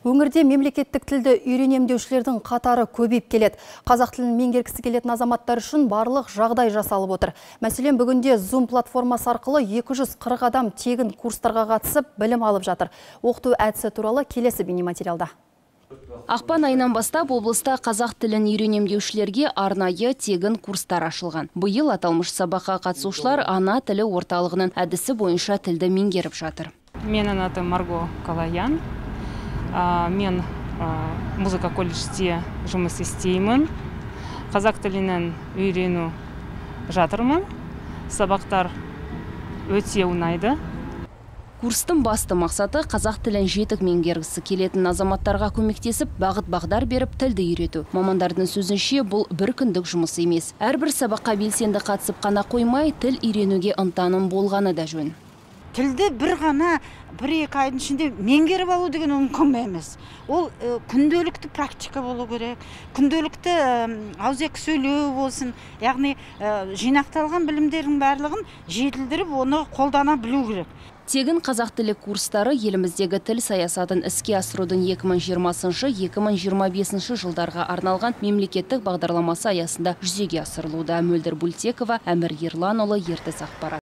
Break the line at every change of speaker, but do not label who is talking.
Өңірде мемлекеттік тілді үйренемдеушілердің қатары көбейіп келеді. Қазақ тілін меңгергісі келетін азаматтар үшін барлық жағдай жасалып отыр. Мәселен, бүгінде Zoom платформасы арқылы 240 адам тегін курстарға қатысып, білім алып жатыр. Оқыту әдісі туралы келесі бейнематериалда.
Ақпан айынан бастап облыста қазақ тілін үйренемдеушілерге арнайы тегін курстар ашылған. Биыл аталмыш сабаққа қатысушылар ана тілі орталығының әдісі бойынша тілді меңгеріп жатыр.
Менің атым Марго Калаян. Мен музыка колледжде жұмыс істеймін. Қазақ тілінің үйрену жатырмын. Сабақтар өте ұнайды.
Курстың басты мақсаты қазақ тілін жетік меңгергісі келетін азаматтарға көмектесіп, бағыт-бағдар беріп тілді үйрету. Мамандардың сөзінше, бұл бір күндік жұмыс емес. Әрбір сабаққа белсенді қатысып қана қоймай, тіл үйренуге ынтаның болғаны да жөн.
Тілді бір ғана 1-2 айдың ішінде меңгеріп алу деген мүмкін емес. Ол күнделікті практика болу керек. Күнделікті ауызекі сөйлеу болсын. Яғни жинақталған білімдердің барлығын жетілдіріп, оны қолдана білу керек.
Тегін қазақ тілі курстары еліміздегі тіл саясатын іске асырудың 2020-2025 жылдарға арналған мемлекеттік бағдарламасы аясында жүзеге асырылуда. Мөлдір Бультекова, Әмір Ерланұлы, Ертіс ақпарат.